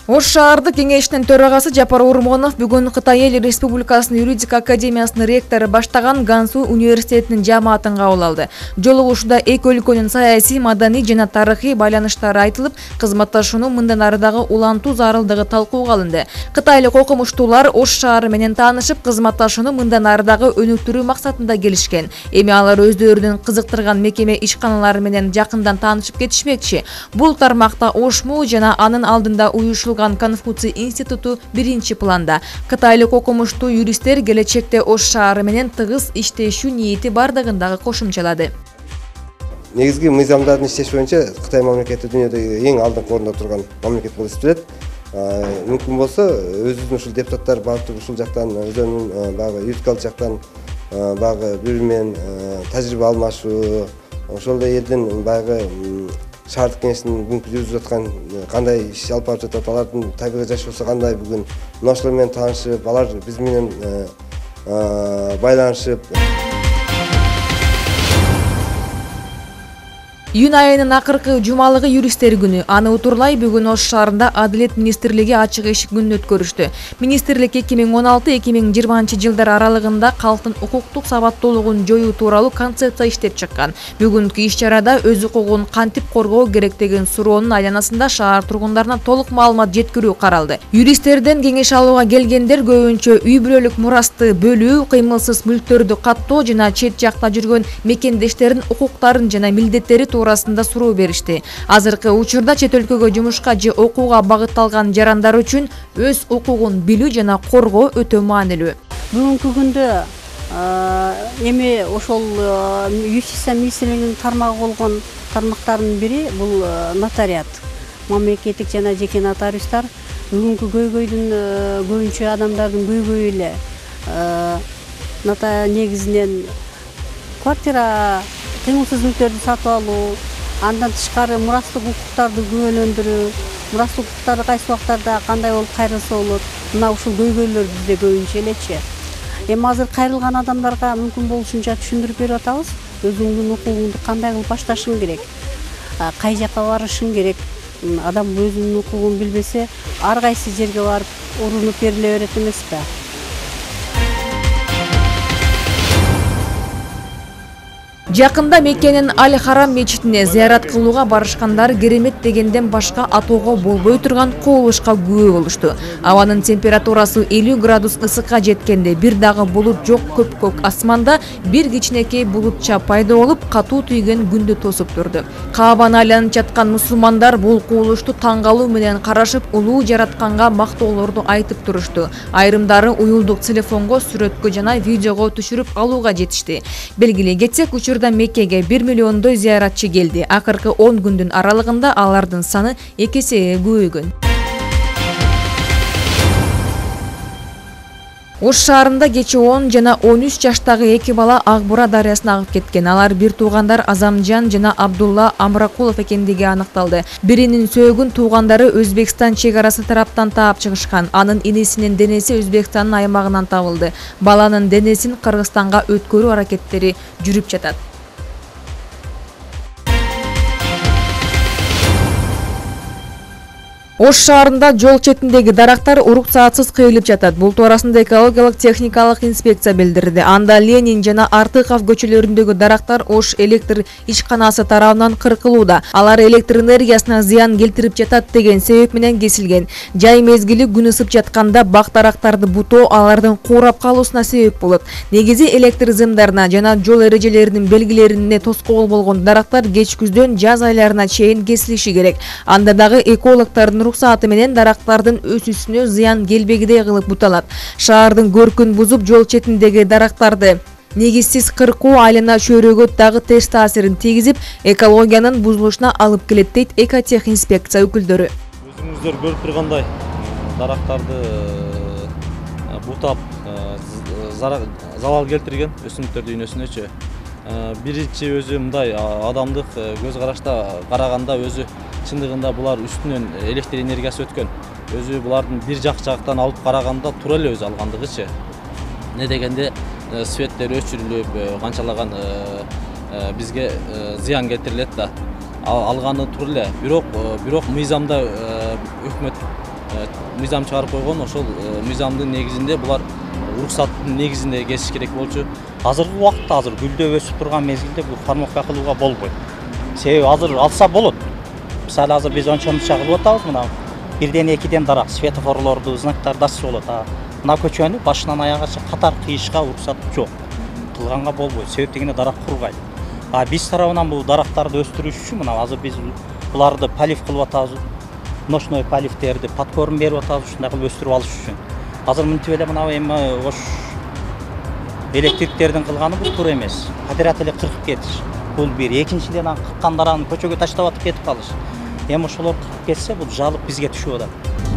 Ош шаардык кеңешинин төрагасы Жапар Урмонов бүгүн Кытай Эл Республикасынын юридика академиясынын ректору баштаган Гансу университетинин жааматын кабыл алды. Жолугушууда эки өлкөнүн саясий, маданий жана тарыхый байланыштары айтылып, кызматташууну мындан ары дагы улантуу зарылдыгы талкууга алынды. Кытайлык окумуштуулар Ош шаары менен таанышып, кызматташууну мындан ары дагы өнүктүрүү максатында келишкен. Эми алар өздөрүнүн кызыктырган мекеме ишканалары менен жакындан таанышып кетишмекчи. Бул тармакта Ошму жана анын алдында уюшулган Конфуций институту биринчи планда. Кытайлык окумуштуу юристтер келечекте Ош шаары менен тыгыз иштешүү ниети бардыгын дагы кошумчалады. Негизги мыйзамдардын иштеши боюнча Кытай мамлекети дүйнөдөгү эң алдыңкы орунда турган мамлекет болуп эсептелет. Мүмкүн болсо өзүбүздүн ушул депутаттар баардыгы ушул жактан өздөрүнүн багы юридикалык жактан багы бири менен тажрыйба алмашуу, ошол эле элдин багы шаардык кеңештин бүгүнкү жүргүзүп жаткан кандай иш алып барып жатат, алардын табигый жашоосу кандай бүгүн мына ошолор менен таанышып, алар биз менен байланышып. Июнь айынын акыркы жумалыгы юристтер күнү. Аны утурлай бүгүн Ош шаарында Адилет министрлиги ачык эшик күнүн өткөрүштү. Министрлик 2016-2020 жылдар аралыгында калктын укуктук сабаттуулугун жоюу тууралуу концепция иштеп чыккан. Бүгүнкү иш-чарада өз укугун кантип коргоо керек деген суроонун айланасында шаар тургундарына толук маалымат жеткирүү каралды. Юристтерден кеңеш алууга келгендер көбүнчө үй бүлөлүк мурасты бөлүү, кыймылсыз мүлктөрдү каттоо жана чет жакта жүргөн мекендештердин укуктарын жана милдеттери туурасында суроо беришти. Азыркы учурда чет өлкөгө жумушка же окууга багытталган жарандар үчүн өз укугун билүү жана коргоо өтө маанилүү. Бүгүнкү күндө эми ошол юстиция министрлигинин тармагы болгон тармактардын бири бул нотариат. Мамлекеттик жана жеке нотариустар бүгүнкү көйгөйдүн көбүнчө адамдардын көйгөйү эле негизинен квартира, кыймылсыз мүлктөрдү сатып алуу, андан тышкары мурастык укуктарды күбөлөндүрүү, мурастык укуктары кайсы убактарда кандай болуп кайрылса болот, мына ушул көйгөйлөр бизде көбүнчө элечи. Эми азыр кайрылган адамдарга мүмкүн болушунча түшүндүрүп берип атабыз. Өзүңдүн укугуңду кандай кылып башташың керек, кай жака барышың керек. Адам өзүнүн укугун билбесе, ар кайсы жерге барып урунуп бериле берет эмеспи? Жакында Меккенин Аль-Харам мечитине зыярат кылууга барышкандар керемет дегенден башка атоого болбой турган кубулушка күбө болушту. Абанын температурасы 50 градус ысыкка жеткенде бир дагы булут жок көк асманда бир кичинекей булутча пайда болуп, катуу түйгөн күндү тосуп турду. Каабаны айланып жаткан мусулмандар бул кубулушту таң калуу менен карашып, улуу жаратканга мактоолорду айтып турушту. Айрымдары уюлдук телефонго, сүрөткө жана видеого түшүрүп алууга жетишти. Белгилей кетсек, учурда Меккеге 1 миллиондой зыяратчы келди. Акыркы 10 күндүн аралыгында алардын саны 2 эсеге көбөйгөн. Ош шаарында кечээ 10 жана 13 жаштагы эки бала Ак-Бура дарыясына агып кеткен. Алар бир туугандар Азамжан жана Абдулла Амракулов экендиги аныкталды. Биринин сөөгүн туугандары Өзбекстан чек арасы тараптан таап чыгышкан. Анын инесинин денеси Өзбекстандын аймагынан табылды. Баланын денесин Кыргызстанга өткөрүү аракеттери жүрүп жатат. Ош шаарында жол четиндеги дарактар уруксаатсыз кыйылып жатат. Бул туурасында экологиялык техникалык инспекция билдирди. Анда Ленин жана Артыков көчөлөрүндөгү дарактар Ош электр ишканасы тарабынан кыркылууда. Алар электр энергиясына зыян келтирип жатат деген себеп менен кесилген. Жай мезгили күн ысып жатканда бак дарактарды бутоо алардын куурап калуусуна себеп болот. Негизи электр зымдарына жана жол эрежелеринин белгилерине тоскоол болгон дарактар кеч күздөн жаз айларына чейин кесилиши керек. Анда дагы экологдордун уруксааты менен дарактардын өсүүсүнө зыян келбегидей кылып буталат. Шаардын көркүн бузуп, жол четиндеги дарактарды негизсиз кыркуу айлана чөйрөгө дагы терс таасирин тийгизип, экологиянын бузулушуна алып келет дейт экотех инспекция өкүлдөрү. Өзүңүздөр көрүп тургандай, дарактарды бутап, залал келтирген өсүмдүктөрдүн дүйнөсүнөчү. Биринчи өзү мындай адамдык көз карашта караганда өзү чындыгында булар үстүнөн электр энергиясы өткөн. Өзү булардын бир жактан алып караганда туура эле өзү алгандыгычы. Не дегенде светтер өчүрүлүп, канчалаган бизге зыян келтирилет да. Алганы туура эле. Бирок мыйзамда өкмөт мыйзам чыгарып койгон, ошол мыйзамдын негизинде булар уруксаттын негизинде кесиш керек болчу. Азыркы убакытта азыр гүлдөп өсүп турган мезгилде бул формовка кылууга болбойт. Себеби азыр алса болот. Мисалы азыр биз онча кылып атабыз, мына бирден экиден дарак, светофорлорду, знактарды ачса болот. Мына көчөнү башынан аягача катар кыйышка уруксат жок. Кылганга болбойт. Себеп дегенде дарак кургайт. Биз тарабынан бул дарактарды өстүрүш үчүн мына азыр биз буларды полив кылып атабыз. Ночной поливтерди подкорм берип атабыз, ушундай кылып өстүрүп алыш үчүн. Азыр мынтип эле мына эми ош электриктердин кылганы бул туура эмес. Подряд эле кыркып кетиш. Бул бир. Экинчиден кырккан дараны көчөгө таштап атып кетип калыш. Эми ошолор кыркып кетсе, бул жалып бизге түшүп атат.